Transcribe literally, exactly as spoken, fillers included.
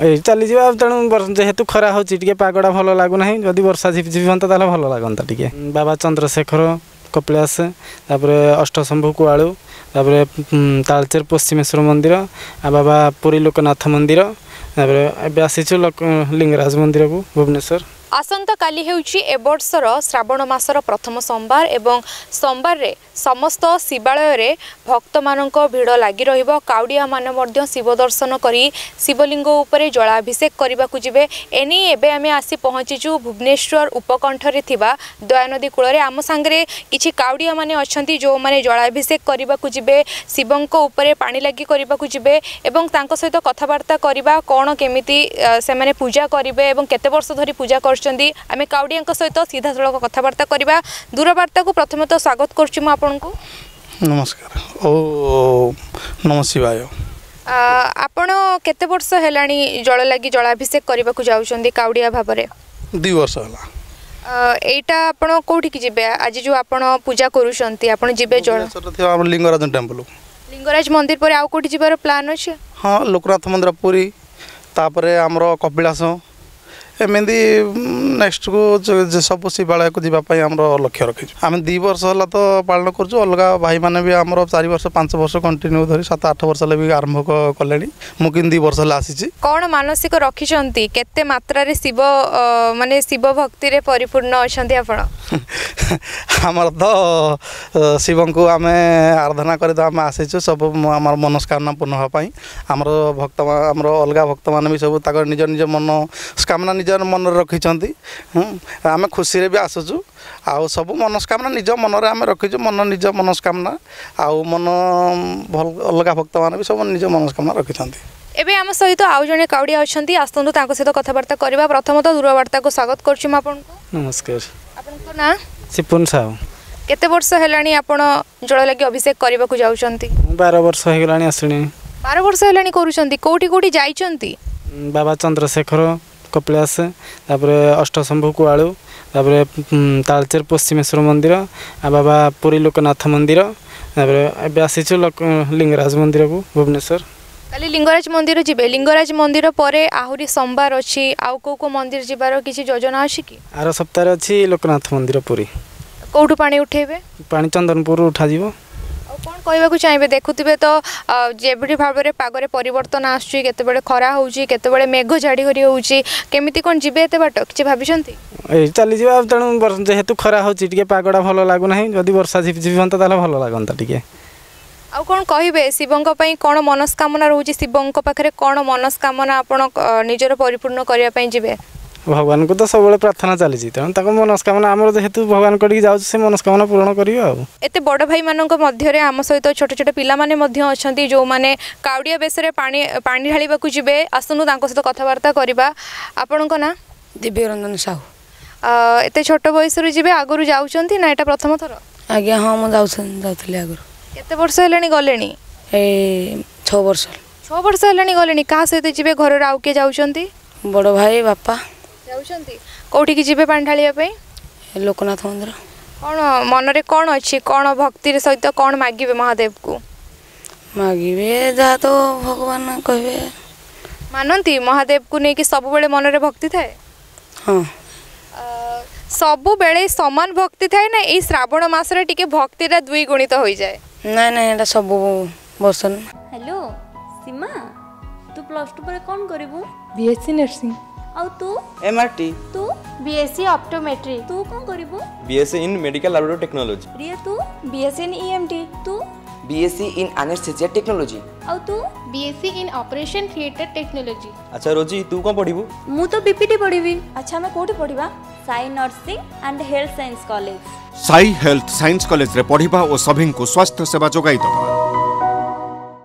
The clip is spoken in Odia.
ଏଇ ଚାଲିଯିବା। ତେଣୁ ଯେହେତୁ ଖରା ହେଉଛି, ଟିକେ ପାଗଟା ଭଲ ଲାଗୁନାହିଁ। ଯଦି ବର୍ଷା ଝିପିଝିପି ହୁଅନ୍ତା, ତାହେଲେ ଭଲ ଲାଗନ୍ତା ଟିକେ। ବାବା ଚନ୍ଦ୍ରଶେଖର କପିଳାସ, ତାପରେ ଅଷ୍ଟଶମ୍ଭୁ କୁଆଳୁ, ତାପରେ ତାଳଚେର ପଶ୍ଚିମେଶ୍ୱର ମନ୍ଦିର, ଆଉ ବାବା ପୁରୀ ଲୋକନାଥ ମନ୍ଦିର। ତାପରେ ଏବେ ଆସିଛୁ ଲିଙ୍ଗରାଜ ମନ୍ଦିରକୁ ଭୁବନେଶ୍ୱର। ଆସନ୍ତାକାଲି ହେଉଛି ଏ ବର୍ଷର ଶ୍ରାବଣ ମାସର ପ୍ରଥମ ସୋମବାର ଏବଂ ସୋମବାରରେ ସମସ୍ତ ଶିବାଳୟରେ ଭକ୍ତମାନଙ୍କ ଭିଡ଼ ଲାଗି ରହିବ। କାଉଡ଼ିଆମାନେ ମଧ୍ୟ ଶିବ ଦର୍ଶନ କରି ଶିବଲିଙ୍ଗ ଉପରେ ଜଳାଭିଷେକ କରିବାକୁ ଯିବେ। ଏନେଇ ଏବେ ଆମେ ଆସି ପହଞ୍ଚିଛୁ ଭୁବନେଶ୍ୱର ଉପକଣ୍ଠରେ ଥିବା ଦୟାନଦୀ କୂଳରେ। ଆମ ସାଙ୍ଗରେ କିଛି କାଉଡ଼ିଆମାନେ ଅଛନ୍ତି, ଯେଉଁମାନେ ଜଳାଭିଷେକ କରିବାକୁ ଯିବେ, ଶିବଙ୍କ ଉପରେ ପାଣି ଲାଗି କରିବାକୁ ଯିବେ ଏବଂ ତାଙ୍କ ସହିତ କଥାବାର୍ତ୍ତା କରିବା କ'ଣ କେମିତି ସେମାନେ ପୂଜା କରିବେ ଏବଂ କେତେ ବର୍ଷ ଧରି ପୂଜା କରୁଛନ୍ତି। ଆମେ କାଉଡ଼ିଆଙ୍କ ସହିତ ସିଧାସଳଖ କଥାବାର୍ତ୍ତା କରିବା। ଦୂରବାର୍ତ୍ତାକୁ ପ୍ରଥମତଃ ସ୍ୱାଗତ କରୁଛି ମୁଁ ଆପଣଙ୍କୁ। ନମସ୍କାର ଓ ନମ ଶିବାୟ। ଆପଣ କେତେ ବର୍ଷ ହେଲାଣି ଜଳଲାଗି ଜଳାଭିଷେକ କରିବାକୁ ଯାଉଛନ୍ତି କାଉଡ଼ିଆ ଭାବରେ? ଦୁଇ ବର୍ଷ ହେଲା। ଏଇଟା ଆପଣ କୋଉଠିକି ଯିବେ? ଆଜି ଯେଉଁ ଆପଣ ପୂଜା କରୁଛନ୍ତି, ଆପଣ ଯିବେ ଜଳ ଥିବା ଆମର ଲିଙ୍ଗରାଜ ଟେମ୍ପଲ। ଲିଙ୍ଗରାଜ ମନ୍ଦିର ପରେ ଆଉ କୋଉଠି ଯିବାର ପ୍ଲାନ୍ ଅଛି? ହଁ, ଲୋକନାଥ ମନ୍ଦିର ପୁରୀ, ତାପରେ ଆମର କପିଳାସ, ଏମିତି ନେକ୍ସଟକୁ ସବୁ ଶିବାଳୟକୁ ଯିବା ପାଇଁ ଆମର ଲକ୍ଷ୍ୟ ରଖିଛୁ। ଆମେ ଦୁଇ ବର୍ଷ ହେଲା ତ ପାଳନ କରୁଛୁ। ଅଲଗା ଭାଇମାନେ ବି ଆମର ଚାରି ବର୍ଷ, ପାଞ୍ଚ ବର୍ଷ କଣ୍ଟିନ୍ୟୁ ଧରି ସାତ ଆଠ ବର୍ଷ ହେଲା ବି ଆରମ୍ଭ କଲେଣି। ମୁଁ କିନ୍ତୁ ଦୁଇ ବର୍ଷ ହେଲା ଆସିଛି। କ'ଣ ମାନସିକ ରଖିଛନ୍ତି? କେତେ ମାତ୍ରାରେ ଶିବ ମାନେ ଶିବ ଭକ୍ତିରେ ପରିପୂର୍ଣ୍ଣ ଅଛନ୍ତି ଆପଣ? ଆମର ତ ଶିବଙ୍କୁ ଆମେ ଆରାଧନା କରି ତ ଆମେ ଆସିଛୁ ସବୁ ଆମର ମନସ୍କାମନା ପୂର୍ଣ୍ଣ ହେବା ପାଇଁ। ଆମର ଭକ୍ତ, ଆମର ଅଲଗା ଭକ୍ତମାନେ ବି ସବୁ ତାଙ୍କର ନିଜ ନିଜ ମନସ୍କାମନା ନିଜ ମନରେ ରଖିଛନ୍ତି। ଆମେ ଖୁସିରେ ବି ଆସୁଛୁ ଆଉ ସବୁ ମନସ୍କାମନା ନିଜ ମନରେ ଆମେ ରଖିଛୁ, ମନ ନିଜ ମନସ୍କାମନା ଆଉ ମନ ଭଲ। ଅଲଗା ଭକ୍ତମାନେ ବି ସବୁ ନିଜ ମନସ୍କାମନା ରଖିଛନ୍ତି। ଏବେ ଆମ ସହିତ ଆଉ ଜଣେ କାଉଡ଼ିଆ ଅଛନ୍ତି, ଆସନ୍ତୁ ତାଙ୍କ ସହିତ କଥାବାର୍ତ୍ତା କରିବା। ପ୍ରଥମତଃ ଦୂରବାର୍ତ୍ତାକୁ ସ୍ୱାଗତ କରୁଛି ମୁଁ ଆପଣଙ୍କୁ। ନମସ୍କାର। ଆପଣଙ୍କ ନାଁ? ସିପୁନ ସାହୁ। କେତେ ବର୍ଷ ହେଲାଣି ଆପଣ ଜଳଲାଗି ଅଭିଷେକ କରିବାକୁ ଯାଉଛନ୍ତି? ବାର ବର୍ଷ ହେଇଗଲାଣି ଆସିଣି। ବାର ବର୍ଷ ହେଲାଣି କରୁଛନ୍ତି। କୋଉଠି କୋଉଠି ଯାଇଛନ୍ତି? ବାବା ଚନ୍ଦ୍ରଶେଖର କପିଳାସ, ତାପରେ ଅଷ୍ଟଶମ୍ଭୁ କୁଆଳୁ, ତାପରେ ତାଳଚେର ପଶ୍ଚିମେଶ୍ୱର ମନ୍ଦିର, ଆଉ ବାବା ପୁରୀ ଲୋକନାଥ ମନ୍ଦିର। ତାପରେ ଏବେ ଆସିଛୁ ଲିଙ୍ଗରାଜ ମନ୍ଦିରକୁ ଭୁବନେଶ୍ୱର। କାଲି ଲିଙ୍ଗରାଜ ମନ୍ଦିର ଯିବେ। ଲିଙ୍ଗରାଜ ମନ୍ଦିର ପରେ ଆହୁରି ସୋମବାର ଅଛି, ଆଉ କେଉଁ କେଉଁ ମନ୍ଦିର ଯିବାର କିଛି ଯୋଜନା ଅଛି କି? ଆର ସପ୍ତାହରେ ଅଛି ଲୋକନାଥ ମନ୍ଦିର ପୁରୀ। କେଉଁଠୁ ପାଣି ଉଠେଇବେ? ପାଣି ଚନ୍ଦନପୁରରୁ ଉଠାଯିବ। ଆଉ କ'ଣ କହିବାକୁ ଚାହିଁବେ? ଦେଖୁଥିବେ ତ ଯେଭଳି ଭାବରେ ପାଗରେ ପରିବର୍ତ୍ତନ ଆସୁଛି, କେତେବେଳେ ଖରା ହେଉଛି, କେତେବେଳେ ମେଘ ଝାଡ଼ି କରି ହେଉଛି, କେମିତି କ'ଣ ଯିବେ ଏତେ ବାଟ, କିଛି ଭାବିଛନ୍ତି? ଏଇ ଚାଲିଯିବା। ତେଣୁ ଯେହେତୁ ଖରା ହେଉଛି, ଟିକେ ପାଗଟା ଭଲ ଲାଗୁନାହିଁ। ଯଦି ବର୍ଷା ଝିପିଝିପି ହୁଅନ୍ତା, ତାହେଲେ ଭଲ ଲାଗନ୍ତା ଟିକେ। ଆଉ କ'ଣ କହିବେ? ଶିବଙ୍କ ପାଇଁ କ'ଣ ମନସ୍କାମନା ରହୁଛି? ଶିବଙ୍କ ପାଖରେ କ'ଣ ମନସ୍କାମନା ଆପଣ ନିଜର ପରିପୂର୍ଣ୍ଣ କରିବା ପାଇଁ ଯିବେ? ଭଗବାନଙ୍କୁ ତ ସବୁବେଳେ ପ୍ରାର୍ଥନା ଚାଲିଛି, ତେଣୁ ତାଙ୍କ ମନସ୍କାମନା ଆମର ଯେହେତୁ ଭଗବାନଙ୍କ ଟିକେ ଯାଉଛି, ସେ ମନସ୍କାମନା ପୂରଣ କରିବେ। ଆଉ ଏତେ ବଡ଼ ଭାଇମାନଙ୍କ ମଧ୍ୟରେ ଆମ ସହିତ ଛୋଟ ଛୋଟ ପିଲାମାନେ ମଧ୍ୟ ଅଛନ୍ତି, ଯେଉଁମାନେ କାଉଡ଼ିଆ ବେଶରେ ପାଣି ପାଣି ଢାଳିବାକୁ ଯିବେ। ଆସନ୍ତୁ ତାଙ୍କ ସହିତ କଥାବାର୍ତ୍ତା କରିବା। ଆପଣଙ୍କ ନାଁ? ଦିବ୍ୟରଞ୍ଜନ ସାହୁ। ଏତେ ଛୋଟ ବୟସରୁ ଯିବେ, ଆଗରୁ ଯାଉଛନ୍ତି ନା ଏଇଟା ପ୍ରଥମ ଥର? ଆଜ୍ଞା ହଁ, ମୁଁ ଯାଉଛନ୍ତି, ଯାଉଥିଲି ଆଗରୁ। କେତେ ବର୍ଷ ହେଲାଣି ଗଲେଣି? ଏଇ ଛଅ ବର୍ଷ। ଛଅ ବର୍ଷ ହେଲାଣି ଗଲେଣି। କାହା ସହିତ ଯିବେ? ଘରର ଆଉ କିଏ ଯାଉଛନ୍ତି? ବଡ଼ ଭାଇ, ବାପା ଯାଉଛନ୍ତି। କୋଉଠିକି ଯିବେ ପାଣି ଢାଳିବା ପାଇଁ? ଲୋକନାଥ ମନ୍ଦିର। କ'ଣ ମନରେ କ'ଣ ଅଛି, କ'ଣ ଭକ୍ତିର ସହିତ କ'ଣ ମାଗିବେ ମହାଦେବକୁ? ମାଗିବେ ଯାହା ତ ଭଗବାନ କହିବେ। ମାନନ୍ତି ମହାଦେବକୁ ନେଇକି ସବୁବେଳେ ମନରେ ଭକ୍ତି ଥାଏ? ହଁ। ସବୁବେଳେ ସମାନ ଭକ୍ତି ଥାଏ ନା ଏଇ ଶ୍ରାବଣ ମାସରେ ଟିକେ ଭକ୍ତିଟା ଦ୍ୱିଗୁଣିତ ହୋଇଯାଏ? ନାଇଁ ନାଇଁ, ଏଇଟା ସବୁ ବର୍ଷ। ହ୍ୟାଲୋ ସୀମା, ତୁ ପ୍ଲସ୍ ଟୁ ପରେ କ'ଣ କରିବୁ? BSc nursing. ଆଉ ତୁ? ଏମ୍ଆରଟି। ତୁ? ବିଏସସି ଅପ୍ଟୋମେଟ୍ରି। ତୁ କ'ଣ କରିବୁ? BSc in medical laboratory technology. Riya, ତୁ? B Sc in E M T. ତୁ? B Sc in anaesthesia technology. ଆଉ ତୁ? BSc in operation theatre technology. ଆଚ୍ଛା ରୋଜି, ତୁ କ'ଣ ପଢ଼ିବୁ? ମୁଁ ତ ବିପିଟି ପଢ଼ିବି। ଆଚ୍ଛା, ଆମେ କୋଉଠି ପଢ଼ିବା? Sai nursing and health science college. Sai health science କଲେଜରେ ପଢ଼ିବା ଓ ସଭିଙ୍କୁ ସ୍ୱାସ୍ଥ୍ୟ ସେବା ଯୋଗାଇ ଦେବା।